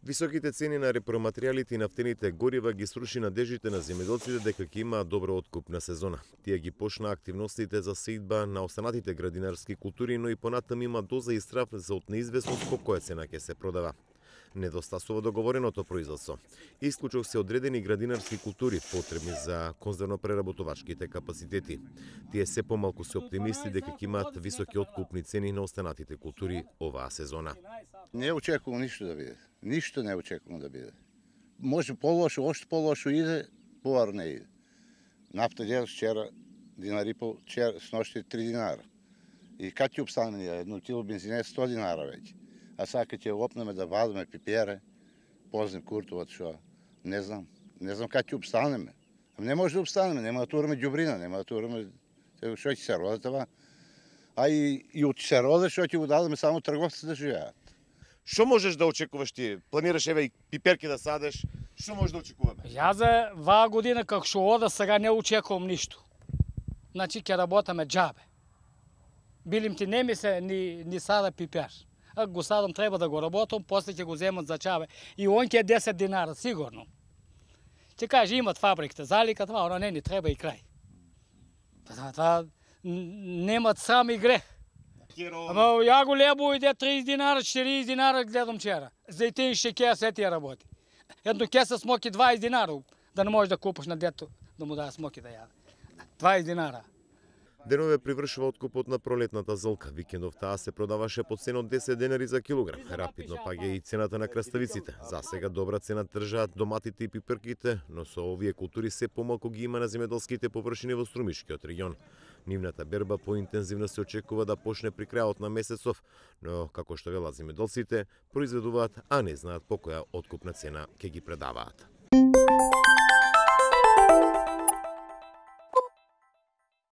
Високите цени на репроматеријалите и нафтените горива ги сруши надеждите на земјоделците дека ќе има добра откупна сезона. Тие ги почна активностите за сеидба на останатите градинарски култури, но и понатаму има доза и страф за од неизвестност по која цена ќе се продава. Недостасува договореното производство. Исклучок се одредени градинарски култури потребни за конзервно-преработувачките капацитети. Тие се помалку се оптимисти дека ќе имаат високи откупни цени на останатите култури оваа сезона. Не очекувам ништо да биде. Ништо не очекувам да биде. Може полошо, ошто полошо иде, повар не иде. Нафта дел вчера динар и пол, сношти 3 динара. И кад ќе обстане едно кило бензина 100 динара веќе. А сега ќе опнеме да вадиме пипере, познем куртоват што, не знам кад ќе обстанеме. Не може да обстанеме, нема да тураме ѓубрина, нема да тураме што ќе се роде това. А и од се роде што ќе го дадеме само трговците да живеат. Што можеш да очекуваш ти? Планираш еве и пиперки да садеш? Што можеш да очекуваме? Ја за ваа година како што ода сега не очекувам ништо. Значи ќе работаме џабе. Билим ти не ми се ни сада пипер. Ако го садам треба да го работам, после ќе го земат за чабе. И он ќе 10 динара сигурно. Ќе каже имат фабриката залика, това она не ни треба и крај. Това немат сам и грех. Ама ја го лебо иде 30 динара, 40 динара гледам вчера. Зејтин шеќер се тие работи. Едно кеса смоки 20 динара, да не можеш да купиш на дето да му даде смоки да јаде. 20 динара. Денове привршува откупот на пролетната золка. Викендов таа се продаваше по цена од 10 денари за килограм. Рапидно паѓа и цената на краставиците. За сега добра цена тржаат доматите и пиперките, но со овие култури се помалку ги има на земјоделските површини во Струмишкиот регион. Нивната берба поинтензивно се очекува да почне при крајот на месецов, но како што велат земјоделците, произведуваат, а не знаат по која откупна цена ќе ги предаваат.